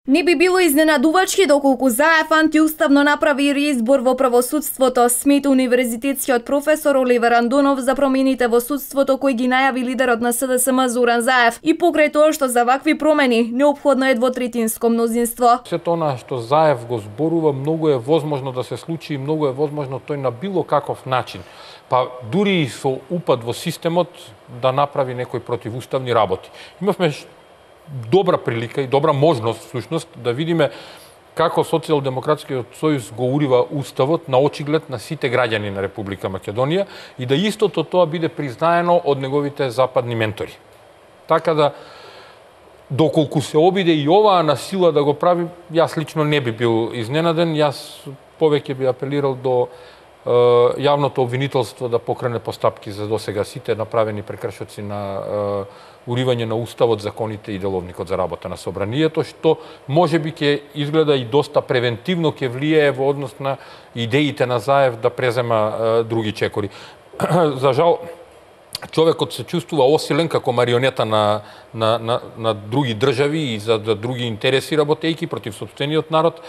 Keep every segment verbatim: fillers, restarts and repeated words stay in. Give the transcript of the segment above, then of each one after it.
Не би било изненадувачки доколку Заев антиуставно направи реизбор во правосудството, смета универзитетскиот професор Оливер Андонов за промените во судството кои ги најави лидерот на СДСМ Зоран Заев и покрај тоа што за вакви промени неопходно е двотретинско мнозинство. Сето она што Заев го зборува многу е возможно да се случи и многу е возможно тој на било каков начин, па дури и со упад во системот да направи некои противуставни работи. Имавме добра прилика и добра можност всушност да видиме како Социјалдемократскиот сојуз го урива уставот на очиглед на сите граѓани на Република Македонија и да истото тоа биде признаено од неговите западни ментори. Така да доколку се обиде и оваа на сила да го прави, јас лично не би бил изненаден, јас повеќе би апелирал до е, јавното обвинителство да покрене постапки за досега сите направени прекршоци на е, уривање на уставот, законите и деловникот за работа на собранието, што можеби ќе изгледа и доста превентивно ќе влијае во однос на идеите на Заев да презема е, други чекори. За жал, човекот се чувствува осилен како марионета на, на, на, на други држави и за да други интереси работејки против сопствениот народ,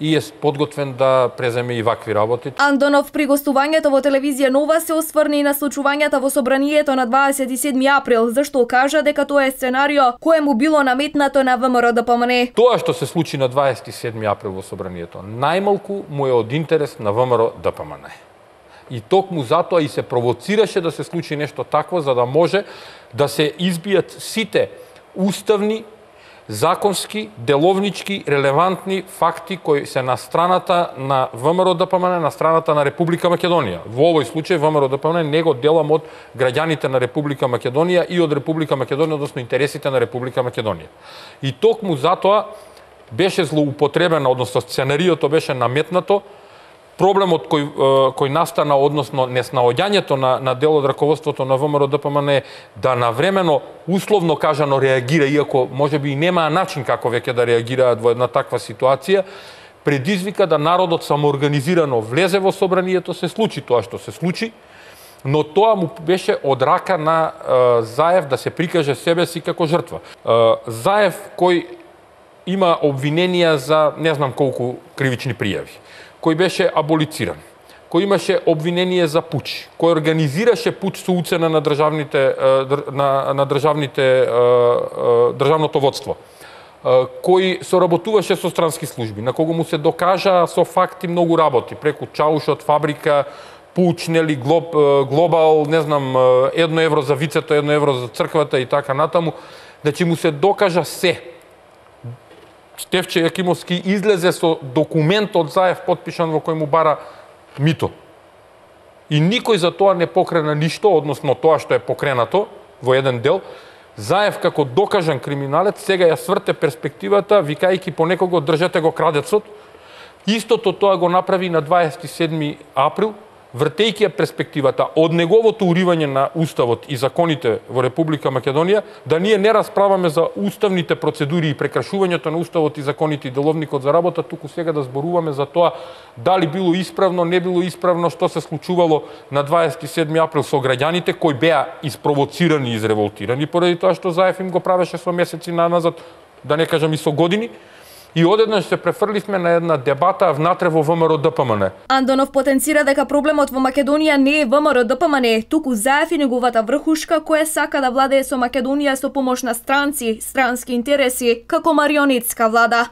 и е подготвен да преземе и вакви работи. Андонов при гостувањето во телевизија Нова се осврна и на случувањата во собранието на дваесет и седми април, зашто кажа дека тоа е сценарио кое му било наметнато на ВМРО Д П М Н. Тоа што се случи на дваесет и седми април во собранието, најмалку му е од интерес на ВМРО Д П М Н. И токму затоа и се провоцираше да се случи нешто такво, за да може да се избијат сите уставни, законски, деловнички, релевантни факти кои се на страната на ВМРО Д П М Н, на страната на Република Македонија. Во овој случај ВМРО Д П М Н не го делам од граѓаните на Република Македонија и од Република Македонија, односно интересите на Република Македонија. И токму затоа беше злоупотребено, односно сценариото беше наметнато, проблемот кој, кој настана, односно неснаоѓањето на, на дел од раководството на ВМРО Д П М Н е да навремено, условно кажано, реагира, иако можеби и немаа начин како веќе да реагираат во една таква ситуација, предизвика да народот самоорганизирано влезе во собранието, се случи тоа што се случи, но тоа му беше од рака на е, Заев да се прикаже себе си како жртва. Е, Заев кој има обвиненија за не знам колку кривични пријави, кој беше аболициран, кој имаше обвинение за пуч, кој организираше пуч со уцена на државните на, на државните државното водство, кој соработуваше со странски служби, на кого му се докажа со факти многу работи, преку чаушот, фабрика, пуч, нели, глоб, глобал, не знам, едно евро за вицето, едно евро за црквата и така натаму, значи му се докажа се. Стефче Јакимовски излезе со документ од Заев потпишан во кој му бара мито. И никој за тоа не покрена ништо, односно тоа што е покренато во еден дел. Заев како докажан криминалец сега ја сврте перспективата, викајќи по некого држете го крадецот. Истото тоа го направи на дваесет и седми април, вртејќи ја перспективата од неговото уривање на уставот и законите во Република Македонија, да ние не расправаме за уставните процедури и прекршувањето на уставот и законите и деловникот за работа, туку сега да зборуваме за тоа дали било исправно, не било исправно, што се случувало на дваесет и седми април со граѓаните кои беа испровоцирани и изреволтирани поради тоа што Заев им го правеше со месеци назад, да не кажам и со години. И одеднаш се префрлисме на една дебата внатре во ВМРО Д П М Н. Андонов потенцира дека проблемот во Македонија не е ВМРО Д П М Н, туку Заев и неговата врхушка која сака да владее со Македонија со помош на странци, странски интереси, како марионетска влада.